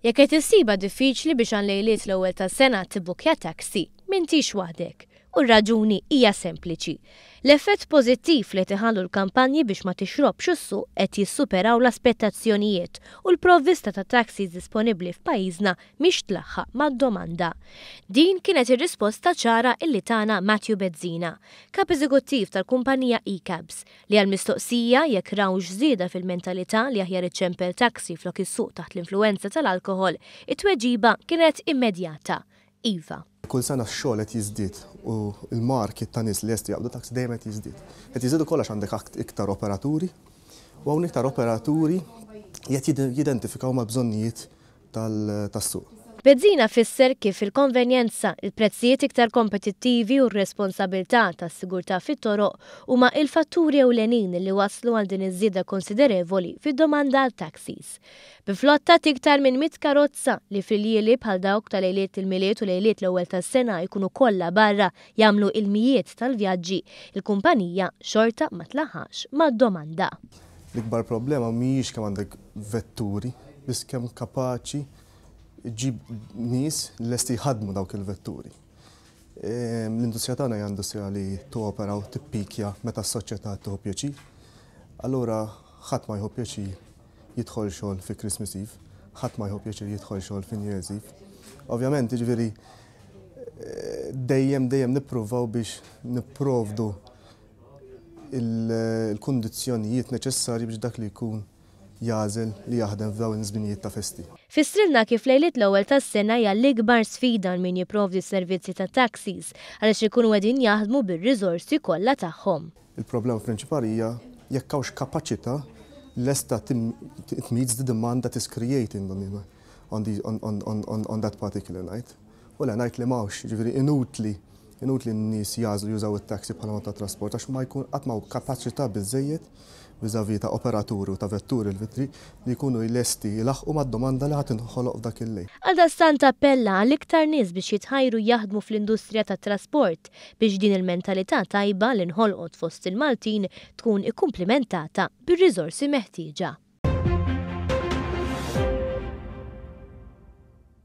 Jekk qed issibha diffiċli biex għal lejliet l-ewwel tas-sena tibbukkja taxi, m'intix waħdek. U r-raġuni hija sempliċi. L-effett pożittiv li qed iħallu l-kampanji biex ma tixrobx u ssuq qed jissuperaw l-aspettazzjonijiet u l-provvista ta' taxis disponibbli f'pajjiżna mhix tlaħħaq mad-domanda. Din kienet ir-risposta ċara illi tana Matthew Bezzina, Kap Eżekuttiv tal-kumpanija eCabs, Li għall-mistoqsija jekk rawx żieda fil-mentalità li aħjar iċċempel taxi flok issuq taħt l-influwenza tal-alkoħol, it-tweġiba kienet immedjata, Iva. Kull sena x-xogħol qed jiżdied u l-market ta' nies li lesti jaqbdu taxi dejjem qed jiżdied. Qed jiżdied ukoll għax għandek iktar operaturi u hawn iktar operaturi li qed jidentifikaw mal-bżonnijiet tas-suq. Bezzina fisser kif il-konvenjenza, il-prezzijiet iktar kompetittivi u r-responsabilità tas-sigurtà fit-toroq huma il-fatturi ewlenin li wasslu għal din iż-żieda konsiderevoli fid-domanda għal taxis. Bi flotta t'iktar minn 100 karozza li f'iljieli bħal dawk ta' lejliet il-Milied u lejliet l-Ewwel tas-Sena jkunu kollha barra jagħmlu il-mijiet tal-vjaġġi, il-kumpanija xorta ma tlaħħaqx mad-domanda. L-ikbar problema mhijiex kemm għandek vetturi, biss kemm kapaċi ġġib nies li lesti jħaddmu dawk il-vetturi. L-industrija tagħna hija industrija li topera u tippikja meta s-soċjetà tieħu pjaċir. Allura ħadd ma jieħu pjaċir jidħol xogħol fi Christmas Eve, ħadd ma jieħu pjaċir jidħol xogħol fi New Year's Eve. Ovvjament, jiġifieri dejjem dejjem nippruvaw biex nipprovdu il-kundizzjonijiet neċessarji biex dak li jkun jagħżel li jaħdem f'dawn iż-żminijiet ta' festi. Fissrilna kif lejliet l-ewwel tas-sena hija l-ikbar sfida għal min jipprovdi s-servizzi ta' taxis għaliex ikunu qegħdin jaħdmu bir-riżorsi kollha tagħhom. Il-problema prinċipali hija jekk hawnx kapaċità lesta it meets the demand that is creating on, the, on, on, on, on that particular night. U le ngħid li m'hawnx, jiġifieri inutli inutli n-nies jagħżlu jużaw it-taxi bħala mod ta' trasport għax ma jkun qatt m'hawn kapaċità biżżejjed vis-à-vis ta' operaturi u ta' vetturi l-vittri li jkunu lesti jlaħħqu mad-domanda li ħa tinħoloq f'dak il-lejl. Għaldaqstant appella għal iktar nies biex jitħajru jaħdmu fl-industrija tat-trasport biex din il-mentalità tajba li nħolqot fost il-Maltin tkun ikkumplimentata bir-riżorsi meħtieġa.